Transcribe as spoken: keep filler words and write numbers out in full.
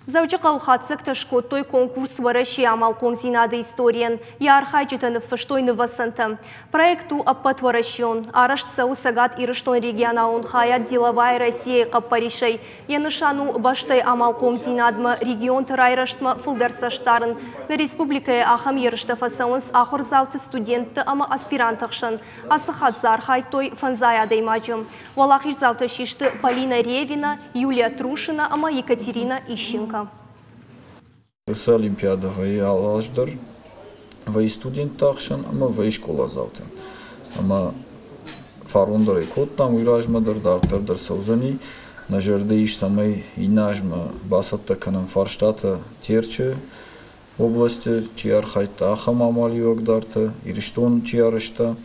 Дзӕуджыхъӕуы хатдзӕгтӕ скодтой конкурс Уӕрӕсейы амалхъомдзинады историйӕн. Йӕ архайджытӕ ныффыстой нывӕцӕнтӕ. Проект у ӕппӕтуӕрӕсеон. Арӕзт цӕуы Цӕгат Ирыстоны регионалон хайад «Деловая Россия»-йы хъӕппӕрисӕй. Йӕ нысан у бӕстӕйы амалхъомдзинадмӕ, регионты райрӕзтмӕ фылдӕр цӕст дарын. Нӕ республикӕйы ахӕм ерыстӕ фӕцӕуынц ахуырдзауты, студентты ӕмӕ аспирантты хсӕн. Ацы хатт дзы архайдтой фӕндзай адӕймаджы. Уӕлахиздзаутӕ систы Полина Ревина, Юлия Трушина ӕмӕ Екатерина Ищенко. Уыцы олимпиадӕ вӕййы алы аз дӕр, вӕййы студентты ӕхсӕн ӕмӕ вӕййы скъоладзаутӕн. Ӕмӕ фарон дӕр ӕй кодтам, уый размӕ дӕр, дарддӕр дӕр цӕудзӕни. Нӕ зӕрды ис, цӕмӕй иннӕ азмӕ бацӕттӕ кӕнӕм фарстатӕ Терчы областы чи архайдта, ахӕм амалиуӕгдартӕ, Ирыстон чи арӕзта.